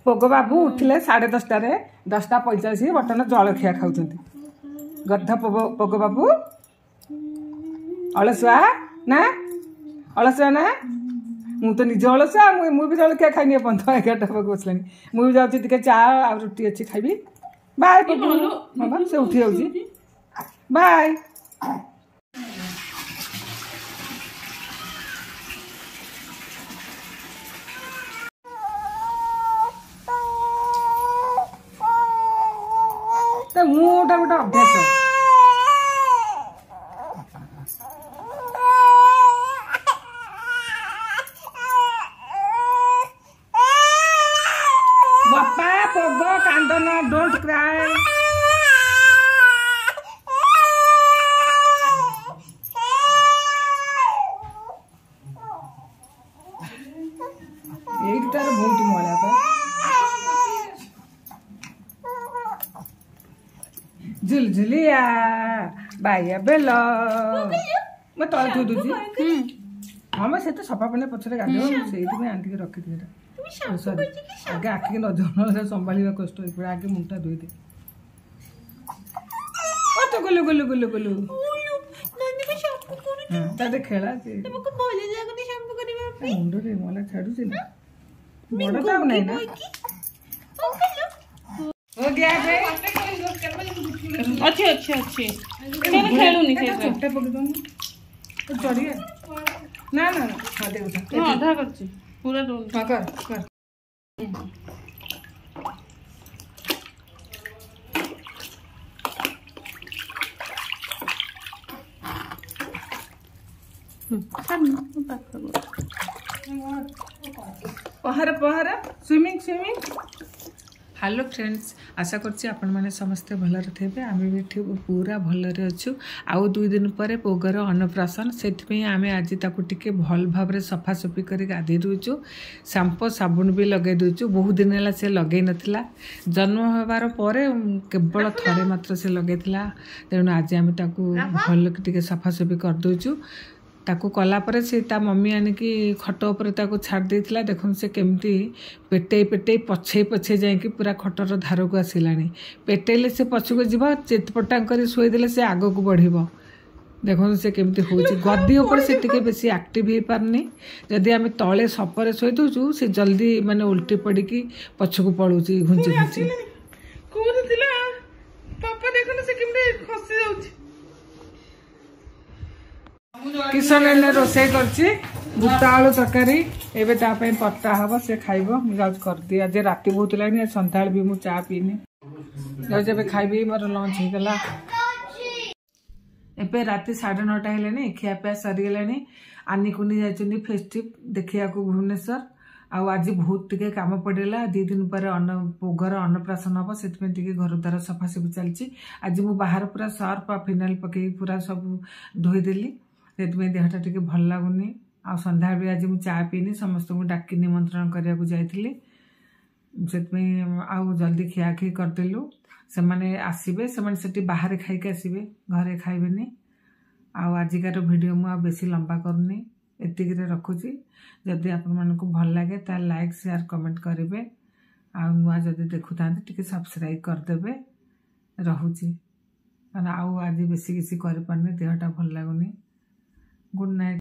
ପୋଗ ବାବୁ ଉଠିଲେ 10:30ରେ, 10:45, ବର୍ତ୍ତମାନ ଜଳଖିଆ ଖାଉଛନ୍ତି। ଗଧ ପୋଗ ବାବୁ ଅଳସୁଆ ନା, ଅଳସୁଆ ନା? ମୁଁ ତ ନିଜ ଅଳସୁଆ, ମୁଁ ବି ଜଳଖିଆ ଖାଇନି ଏପର୍ଯ୍ୟନ୍ତ, 11ଟା ହେବାକୁ ବସିଲାଣି। ମୁଁ ବି ଯାଉଛି ଟିକେ ଚା ଆଉ ରୁଟି ଅଛି ଖାଇବି। ବାଏ ପୋଗୁ। ହଁ ବା, ସେ ଉଠି ଯାଉଛି। ବାଏ। ତା ମୁଁଟା ଗୋଟେ ଅଭ୍ୟାସ। ବାପା ପୋଗ କାନ୍ଦନ, don't cry. ଏଇଠି ତାର ବହୁତ ମଇଳା ପା। ଝୁଲଝୁଲିଆ ବାଇଆ ବେଲ ମୁଁ ତଳେ ଥୋଇ ଦଉଛି। ହଁ ମ, ସେ ତ ସଫା ପାଣି ପଛରେ ଗାଧେଇବ, ମୁଁ ସେଇଥିପାଇଁ ଆଣିକି ରଖିଦିଏ। ସରି, ଆଗେ ଆଖିକି ନଜର ନହେଲେ ସମ୍ଭାଳିବା କଷ୍ଟ ହେଇପଡ଼େ। ଆଗେ ମୁଣ୍ଡଟା ଧୋଇଦେ। ଓ ତ ଗୁଲୁ ଗୁଲୁ ଗୁଲୁ ଗୁଲୁ ତାର ଖେଳା ମୁଣ୍ଡରେ ମଲା ଛାଡୁଛି ନା, ବଡ ତ ଆଉ ନାହିଁ ନା। हो गया बे? ଅଛି ଅଛି ଅଛି, ଖେଳୁନି। ଚୋଟା ପକେଇ ଦଉନୁ ଚଢିଆ। ନା ନା ନା, ହଁ ଦେ ଉଠା। ହଁ, ଅଧା କରିଛି, ପୁରା ଦଉନି। ହଁ, କର କର। ପହଁରା ପହଁରା, ସୁଇମିଂ ସୁଇମିଂ। ହ୍ୟାଲୋ ଫ୍ରେଣ୍ଡସ୍, ଆଶା କରୁଛି ଆପଣମାନେ ସମସ୍ତେ ଭଲରେ ଥିବେ। ଆମେ ବି ଏଠି ପୁରା ଭଲରେ ଅଛୁ। ଆଉ 2 ଦିନ ପରେ ପୋଗର ଅନ୍ନପ୍ରାଶନ, ସେଥିପାଇଁ ଆମେ ଆଜି ତାକୁ ଟିକେ ଭଲ ଭାବରେ ସଫାସଫି କରି ଗାଧେଇ ଦେଉଛୁ, ସାମ୍ପୋ ସାବୁନ ବି ଲଗାଇ ଦେଉଛୁ। ବହୁତ ଦିନ ହେଲା ସେ ଲଗାଇ ନଥିଲା, ଜନ୍ମ ହେବାର ପରେ କେବଳ ଥରେ ମାତ୍ର ସେ ଲଗାଇଥିଲା। ତେଣୁ ଆଜି ଆମେ ତାକୁ ଭଲ ଟିକେ ସଫାସଫି କରିଦେଉଛୁ। ତାକୁ କଲା ପରେ ସେ ତା ମମି ଆଣିକି ଖଟ ଉପରେ ତାକୁ ଛାଡ଼ି ଦେଇଥିଲା। ଦେଖନ୍ତୁ ସେ କେମିତି ପେଟେଇ ପେଟେଇ ପଛେଇ ପଛେଇ ଯାଇକି ପୁରା ଖଟର ଧାରକୁ ଆସିଲାଣି। ପେଟେଇଲେ ସେ ପଛକୁ ଯିବ, ଚିତପଟାଙ୍ଗ କରି ଶୋଇଦେଲେ ସେ ଆଗକୁ ବଢ଼ିବ। ଦେଖନ୍ତୁ ସେ କେମିତି ହେଉଛି। ଗଦି ଉପରେ ସେ ଟିକେ ବେଶୀ ଆକ୍ଟିଭ୍ ହେଇପାରୁନି। ଯଦି ଆମେ ତଳେ ସପରେ ଶୋଇ ଦେଉଛୁ, ସେ ଜଲ୍ଦି ମାନେ ଓଲଟି ପଡ଼ିକି ପଛକୁ ପଳଉଛି ଘୁଞ୍ଚି ଘୁଞ୍ଚି। କୋଉଠି ଥିଲା ପାପା? ଦେଖନ୍ତୁ ସେ କେମିତି ଖସି ଯାଉଛି। କିଶନ ଏଇନେ ରୋଷେଇ କରୁଛି ବୁଟ ଆଳୁ ତରକାରୀ। ଏବେ ତା ପାଇଁ ପରଟା ହବ, ସେ ଖାଇବ। ମୁଁ ଯାଉଛି କରିଦିଏ। ଆଜି ରାତି ବହୁତ ହେଲାଣି, ଆଜି ସନ୍ଧ୍ୟାବେଳେ ବି ମୁଁ ଚା ପିଇନି। ଯାଉଛି ଏବେ ଖାଇବି, ମୋର ଲଞ୍ଚ ହେଇଗଲା। ଏବେ ରାତି 9:30 ହେଲାଣି, ଖିଆପିଆ ସରିଗଲାଣି। ଆନିକୁନି ଯାଇଛନ୍ତି ଫେଷ୍ଟିଭ ଦେଖିବାକୁ ଭୁବନେଶ୍ୱର। ଆଉ ଆଜି ବହୁତ ଟିକେ କାମ ପଡ଼ିଲା। 2 ଦିନ ପରେ ଅନ୍ନ ଘର ଅନ୍ନପ୍ରାଶନ ହବ, ସେଥିପାଇଁ ଟିକେ ଘର ଦ୍ୱାର ସଫାସଫି ଚାଲିଛି। ଆଜି ମୁଁ ବାହାର ପୁରା ସର୍ଫ ଆଉ ଫିନାଇଲ୍ ପକେଇକି ପୁରା ସବୁ ଧୋଇଦେଲି, ସେଥିପାଇଁ ଦେହଟା ଟିକେ ଭଲ ଲାଗୁନି। ଆଉ ସନ୍ଧ୍ୟାବେଳେ ଆଜି ମୁଁ ଚା ପିଇନି, ସମସ୍ତଙ୍କୁ ଡାକି ନିମନ୍ତ୍ରଣ କରିବାକୁ ଯାଇଥିଲି, ସେଥିପାଇଁ ଆଉ ଜଲ୍ଦି ଖିଆଖିଇ କରିଦେଲୁ। ସେମାନେ ଆସିବେ, ସେମାନେ ସେଠି ବାହାରେ ଖାଇକି ଆସିବେ, ଘରେ ଖାଇବେନି। ଆଉ ଆଜିକାର ଭିଡ଼ିଓ ମୁଁ ଆଉ ବେଶୀ ଲମ୍ବା କରୁନି, ଏତିକିରେ ରଖୁଛି। ଯଦି ଆପଣମାନଙ୍କୁ ଭଲ ଲାଗେ ତାହେଲେ ଲାଇକ୍ ସେୟାର କମେଣ୍ଟ କରିବେ, ଆଉ ନୂଆ ଯଦି ଦେଖୁଥାନ୍ତି ଟିକେ ସବସ୍କ୍ରାଇବ୍ କରିଦେବେ। ରହୁଛି, କାରଣ ଆଉ ଆଜି ବେଶୀ କିଛି କରିପାରୁନି, ଦେହଟା ଭଲ ଲାଗୁନି। Good night.